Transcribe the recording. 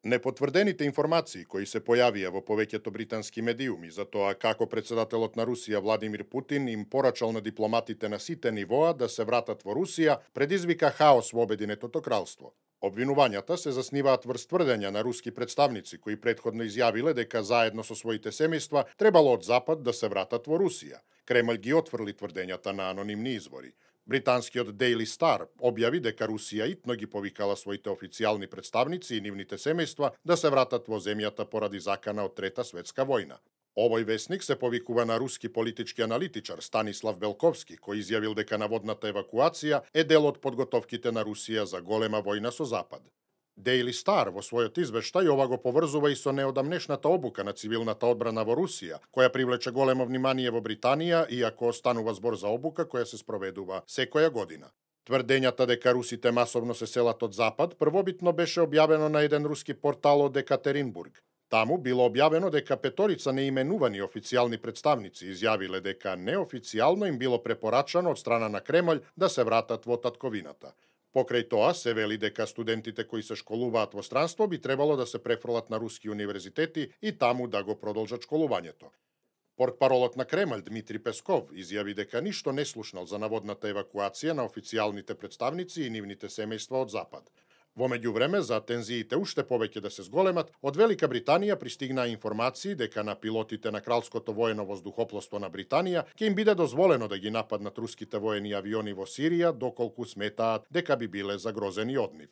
Непотврдените информации кои се појавија во повеќето британски медиуми за тоа како председателот на Русија Владимир Путин им порачал на дипломатите на сите нивоа да се вратат во Русија, предизвика хаос во Обединетото кралство. Обвинувањата се засниваат врз тврдења на руски представници кои претходно изјавиле дека заедно со своите семејства требало од Запад да се вратат во Русија. Кремљ ги отфрли тврдењата на анонимни извори. Британскиот Daily Star објави дека Русија итно ги повикала своите официјални представници и нивните семејства да се вратат во земјата поради закана од Трета светска војна. Овој весник се повикува на руски политички аналитичар Станислав Белковски, кој изјавил дека наводната евакуација е дел од подготовките на Русија за голема војна со Запад. Daily Star во својот извештај ова го поврзува и со неодамнешната обука на цивилната одбрана во Русија, која привлече големо внимание во Британија, иако станува збор за обука која се спроведува секоја година. Тврдењата дека русите масовно се селат од Запад првобитно беше објавено на еден руски портал од Екатеринбург. Таму било објавено дека петорица неименувани официјални представници изјавиле дека неофицијално им било препорачано од страна на Кремљ да се вратат во татковината. Покрај тоа се вели дека студентите кои се школуваат во странство би требало да се префрлат на руски универзитети и таму да го продолжат школувањето. Портпаролот на Кремљ Дмитрий Песков изјави дека ништо не слушнал за наводната евакуација на официјалните представници и нивните семејства од Запад. Во меѓувреме, за тензиите уште повеќе да се зголемат, од Велика Британија пристигнаа информации дека на пилотите на Кралското воено воздухопловство на Британија ќе им биде дозволено да ги нападнат руските воени авиони во Сирија, доколку сметаат дека би биле загрозени од нив.